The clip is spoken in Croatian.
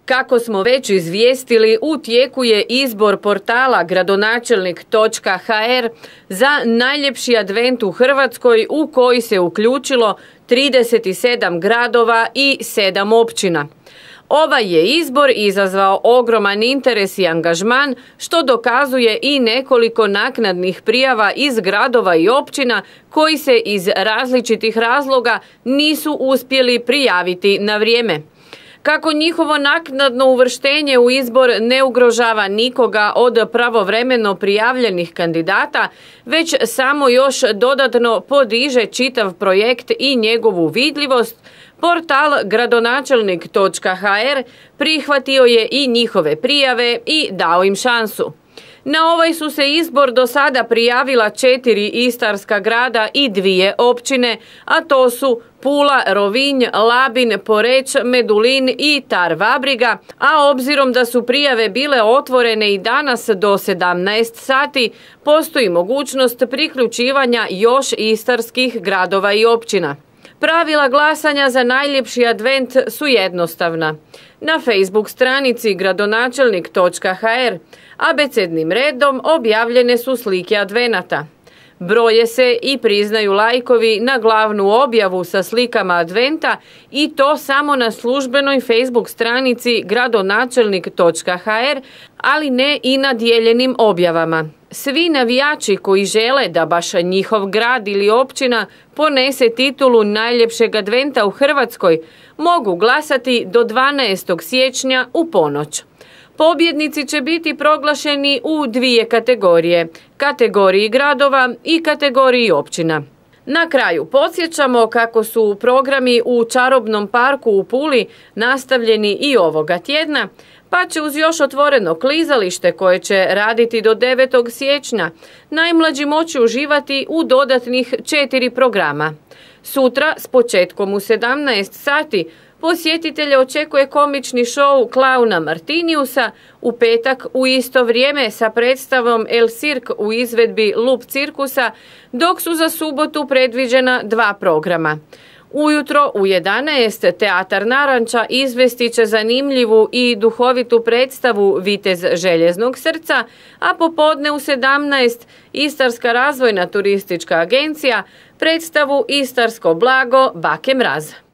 Kako smo već izvijestili, u tijeku je izbor portala gradonačelnik.hr za najljepši advent u Hrvatskoj u koji se uključilo 37 gradova i 7 općina. Ovaj je izbor izazvao ogroman interes i angažman, što dokazuje i nekoliko naknadnih prijava iz gradova i općina koji se iz različitih razloga nisu uspjeli prijaviti na vrijeme. Kako njihovo naknadno uvrštenje u izbor ne ugrožava nikoga od pravovremeno prijavljenih kandidata, već samo još dodatno podiže čitav projekt i njegovu vidljivost, portal gradonačelnik.hr prihvatio je i njihove prijave i dao im šansu. Na ovaj su se izbor do sada prijavila 4 istarska grada i 2 općine, a to su Pula, Rovinj, Labin, Poreč, Medulin i Tar-Vabriga, a obzirom da su prijave bile otvorene i danas do 17 sati, postoji mogućnost priključivanja još istarskih gradova i općina. Pravila glasanja za najljepši advent su jednostavna. Na Facebook stranici gradonačelnik.hr abecednim redom objavljene su slike advenata. Broje se i priznaju lajkovi na glavnu objavu sa slikama adventa i to samo na službenoj Facebook stranici gradonačelnik.hr, ali ne i na dijeljenim objavama. Svi navijači koji žele da baš njihov grad ili općina ponese titulu najljepšeg adventa u Hrvatskoj mogu glasati do 12. siječnja u ponoć. Pobjednici će biti proglašeni u 2 kategorije, kategoriji gradova i kategoriji općina. Na kraju podsjećamo kako su programi u Čarobnom parku u Puli nastavljeni i ovoga tjedna, pa će uz još otvoreno klizalište koje će raditi do 9. siječnja najmlađi moći uživati u dodatnih 4 programa. Sutra s početkom u 17 sati posjetitelje očekuje komični šou klauna Martiniusa, u petak u isto vrijeme sa predstavom El Cirque u izvedbi Lup cirkusa, dok su za subotu predviđena 2 programa. Ujutro u 11 Teatar Naranča izvesti će zanimljivu i duhovitu predstavu Vitez željeznog srca, a popodne u 17 Istarska razvojna turistička agencija predstavu Istarsko blago Bake Mraz.